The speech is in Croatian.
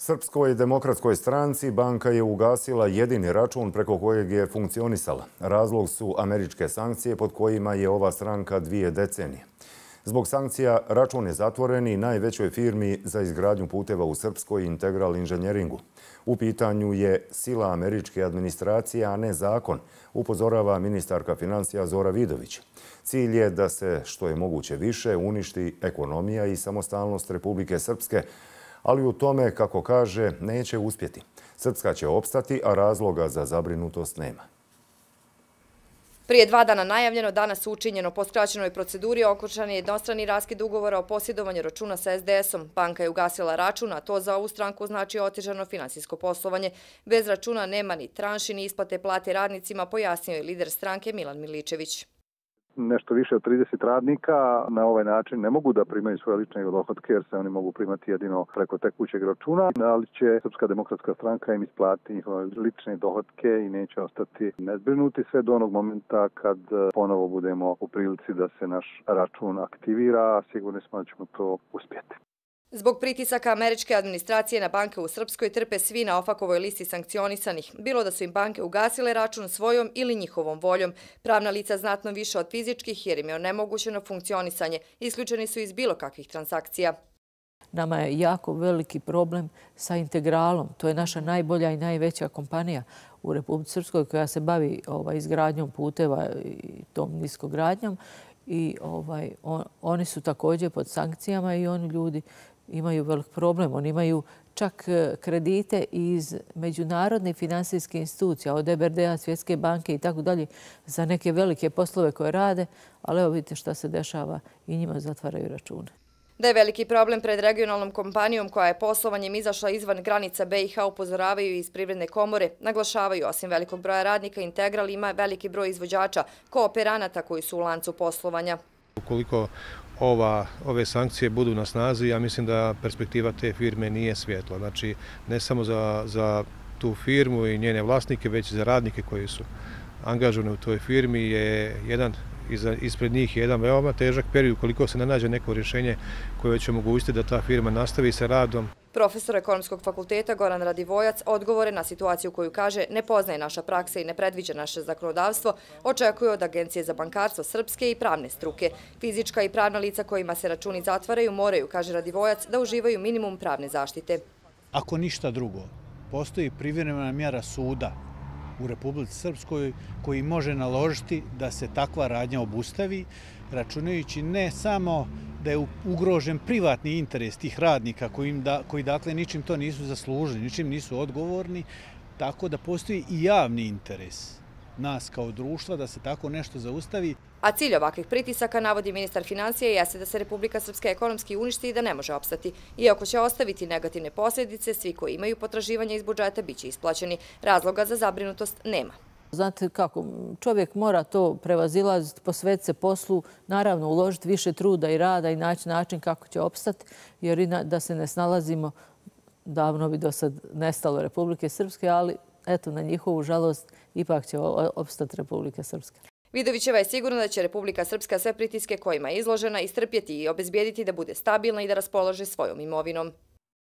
Srpskoj demokratskoj stranci banka je ugasila jedini račun preko kojeg je funkcionisala. Razlog su američke sankcije pod kojima je ova stranka 2 decenije. Zbog sankcija račun je zatvoren i najvećoj firmi za izgradnju puteva u Srpskoj, Integral Inženjeringu. U pitanju je sila američke administracije, a ne zakon, upozorava ministarka financija Zora Vidović. Cilj je da se što je moguće više uništi ekonomija i samostalnost Republike Srpske, ali u tome, kako kaže, neće uspjeti. Srpska će opstati, a razloga za zabrinutost nema. Prije 2 dana najavljeno, danas učinjeno. Po skraćenoj proceduri okončan je jednostrani raskid ugovora o posjedovanju računa sa SDS-om. Banka je ugasila račun, a to za ovu stranku znači otežano finansijsko poslovanje. Bez računa nema ni tranši, ni isplate plate radnicima, pojasnio je lider stranke Milan Miličević. Nešto više od 30 radnika na ovaj način ne mogu da primaju svoje lične dohotke jer se oni mogu primati jedino preko tekućeg računa, ali će Srpska demokratska stranka im isplatiti njihove lične dohotke i neće ostati nezbrinuti sve do onog momenta kad ponovo budemo u prilici da se naš račun aktivira, a sigurni smo da ćemo to uspjeti. Zbog pritisaka američke administracije na banke u Srpskoj trpe svi na OFAC-ovoj listi sankcionisanih. Bilo da su im banke ugasile račun svojom ili njihovom voljom. Pravna lica znatno više od fizičkih jer im je onemogućeno funkcionisanje. Isključeni su iz bilo kakvih transakcija. Nama je jako veliki problem sa Integralom. To je naša najbolja i najveća kompanija u Republici Srpskoj koja se bavi izgradnjom puteva i tom niskogradnjom. I oni su također pod sankcijama i oni ljudi imaju velik problem. Oni imaju čak kredite iz međunarodnih finansijskih institucija, od EBRD-a, Svjetske banke i tako dalje, za neke velike poslove koje rade, ali evo vidite šta se dešava i njima zatvaraju račune. Da je veliki problem pred regionalnom kompanijom koja je poslovanjem izašla izvan granica BiH upozoravaju iz Privredne komore. Naglašavaju, osim velikog broja radnika, Integral ima veliki broj izvođača, kooperanata koji su u lancu poslovanja. Ukoliko ove sankcije budu na snazi, ja mislim da perspektiva te firme nije svjetla. Znači, ne samo za tu firmu i njene vlasnike, već i za radnike koji su angažovani u toj firmi je ispred njih je jedan veoma težak period ukoliko se ne nađe neko rješenje koje će omogućiti da ta firma nastavi sa radom. Profesor Ekonomskog fakulteta Goran Radivojac odgovore na situaciju koju kaže ne poznaje naša praksa i ne predviđa naše zakonodavstvo, očekuje od Agencije za bankarstvo Srpske i pravne struke. Fizička i pravna lica kojima se računi zatvaraju moraju, kaže Radivojac, da uživaju minimum pravne zaštite. Ako ništa drugo, postoji privremena mjera suda u Republici Srpskoj koji može naložiti da se takva radnja obustavi, računajući ne samo da je ugrožen privatni interes tih radnika koji dakle ničim to nisu zaslužili, ničim nisu odgovorni, tako da postoji i javni interes nas kao društva da se tako nešto zaustavi. A cilj ovakvih pritisaka, navodi ministar financija, jeste da se Republika Srpska ekonomski uništi i da ne može opstati. Iako će ostaviti negativne posljedice, svi koji imaju potraživanja iz budžeta biće isplaćeni. Razloga za zabrinutost nema. Znate kako, čovjek mora to prevazilaziti, posvetiti se poslu, naravno uložiti više truda i rada i naći način kako će opstati, jer da se ne snalazimo, davno bi do sad nestalo Republike Srpske, ali eto, na njihovu žalost ipak će opstati Republika Srpska. Vidovićeva je sigurna da će Republika Srpska sve pritiske kojima je izložena istrpjeti i obezbijediti da bude stabilna i da raspolaže svojom imovinom.